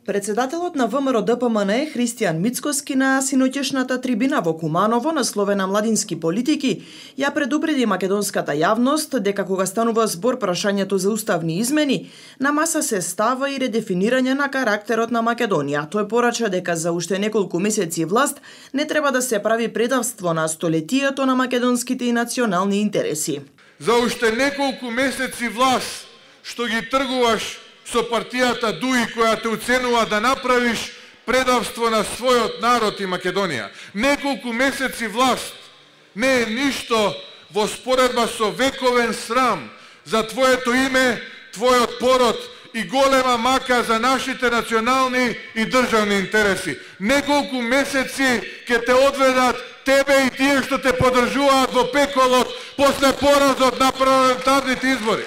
Председателот на ВМРО-ДПМН Христијан Мицкоски на синоќешната трибина во Куманово насловена младински политики ја предупреди македонската јавност дека кога станува збор прашањето за уставни измени, на маса се става и редефинирање на карактерот на Македонија. Тој порача дека за уште неколку месеци власт не треба да се прави предавство на столетието на македонските и национални интереси. За уште неколку месеци власт што ги тргуваш со партијата ДУИ која те уценува да направиш предавство на својот народ и Македонија. Неколку месеци власт не е ништо во споредба со вековен срам за твоето име, твојот пород и голема мака за нашите национални и државни интереси. Неколку месеци ќе те одведат тебе и тие што те поддржуваат во пеколот после поразот на парламентарните избори.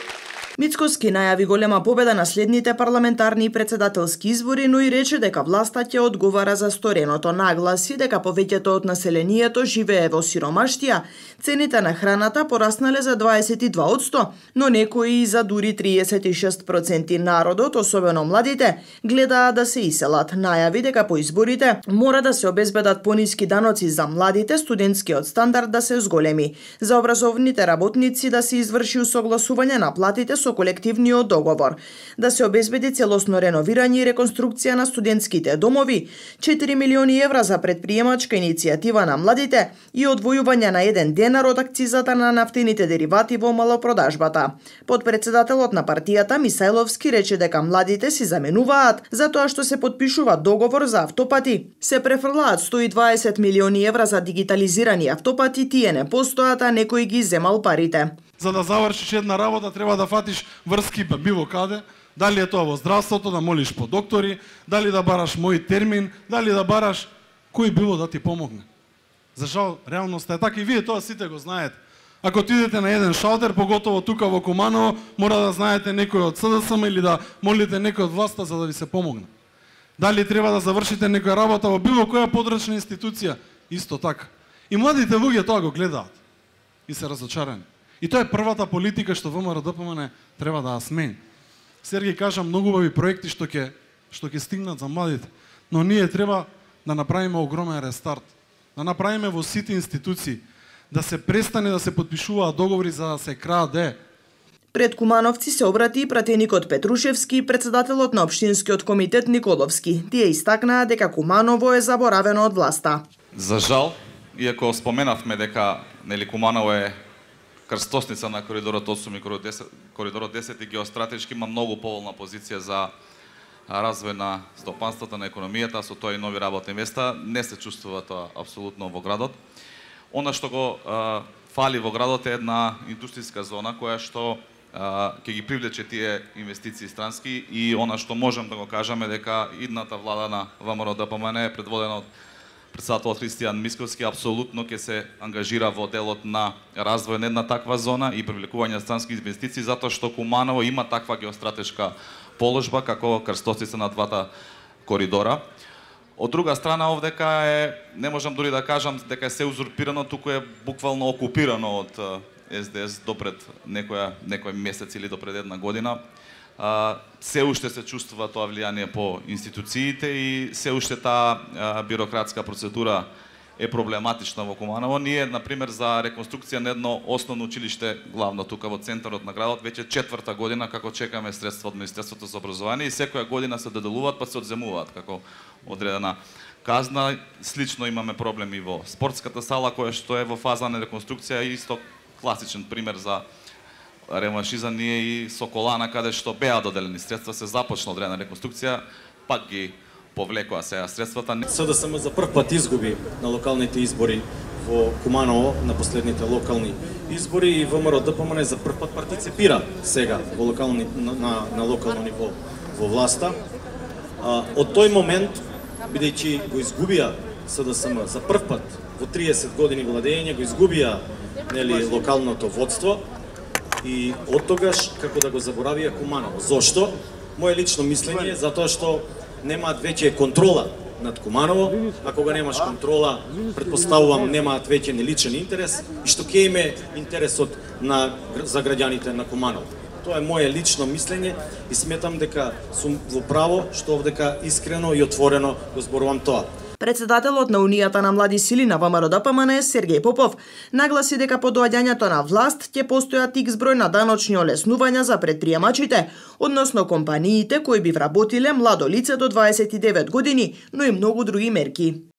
Мицкоски најави голема победа на следните парламентарни и председателски избори, но и рече дека власта ќе одговара за стореното. Нагласи дека повеќето од населението живее во сиромаштија, цените на храната пораснале за 22%, но некои за дури 36%. Народот, особено младите, гледаат да се иселат. Најави дека по изборите мора да се обезбедат пониски даноци за младите, студентскиот стандард да се зголеми, за образовните работници да се изврши усогласување на платите со колективниот договор, да се обезбеди целосно реновирање и реконструкција на студентските домови, 4 милиони евра за предприемачка иницијатива на младите и одвојување на 1 денар од акцизата на нафтените деривати во малопродажбата. Подпредседателот на партијата Мисајловски рече дека младите си заменуваат затоа што се подпишува договор за автопати. Се префрлаат 120 милиони евра за дигитализирани автопати, тие не постојат, а некој ги земал парите. За да завршиш една работа треба да фатиш врски било каде, дали е тоа во здравството, да молиш по доктори, дали да бараш мој термин, дали да бараш кој било да ти помогне. За жал, реалноста е така и вие тоа сите го знаете. Ако отидете на еден шалтер, поготово тука во Куманово, мора да знаете некој од СДСМ или да молите некој од власта за да ви се помогне. Дали треба да завршите некоја работа во било која подрачна институција, исто така. И младите луѓе тоа го гледаат и се разочарани. И тоа е првата политика што ВМРО-ДПМН треба да ја смени. Сергеј кажа многу убави проекти што ќе стигнат за младите, но ние треба да направиме огромен рестарт, да направиме во сите институции, да се престане да се подпишуваат договори за да се краде. Пред кумановци се обрати и пратеникот Петрушевски и председателот на Општинскиот комитет Николовски. Тие истакнаа дека Куманово е заборавено од власта. За жал, иако споменавме дека Куманово е крстосница на коридорот 8 и коридорот 10 и геостратешки има многу поволна позиција за развој на стопанството, на економијата, со тоа и нови работни места. Не се чувствува тоа апсолутно во градот. Она што го фали во градот е една индустријска зона која што ќе ги привлече тие инвестиции странски и она што можем да го кажеме дека идната влада на ВМРО-ДПМН е предводена од председателот Христијан Мицкоски апсолутно ќе се ангажира во делот на развој на една таква зона и привлекување на странски инвестиции, затоа што Куманово има таква геостратешка положба како крстосница на двата коридора. Од друга страна овдека не можам дури да кажам дека е се узурпирано, туку е буквално окупирано од СДС допред некој месец или допред една година. Се уште се чувствува тоа влијание по институциите и се уште таа бирократска процедура е проблематична во Куманово. Ние, например, за реконструкција на едно основно училиште, главно тука во центарот на градот, веќе 4-та година како чекаме средства од Министерството за образование и секоја година се доделуваат па се одземуваат како одредена казна. Слично имаме проблеми во спортската сала која што е во фаза на реконструкција и исто класичен пример за реманшизам ние и Соколана, каде што беа доделени средства, се започна одредена реконструкција, пак ги повлекоа сега средствата. СДСМ за прв пат изгуби на локалните избори во Куманово, на последните локални избори, и ВМРО-ДПМН за прв пат партиципира сега во на локално ниво во власта. Од тој момент, бидејќи го изгубија СДСМ за прв пат во 30 години владење, го изгубија локалното водство, и од тогаш како да го заборавија Куманово. Зошто? Моје лично мислење, затоа што немаат веќе контрола над Куманово, а кога немаш контрола, предпоставувам немаат веќе ни личен интерес и што ќе име интересот за граѓаните на Куманово. Тоа е моje лично мислење и сметам дека сум во право што овдека искрено и отворено го зборувам тоа. Председателот на Унијата на млади сили на ВМРО-ДПМН Сергеј Попов нагласи дека по доаѓањето на власт ќе постојат икс број на даночни олеснувања за претприемачите, односно компаниите кои би вработиле младо лице до 29 години, но и многу други мерки.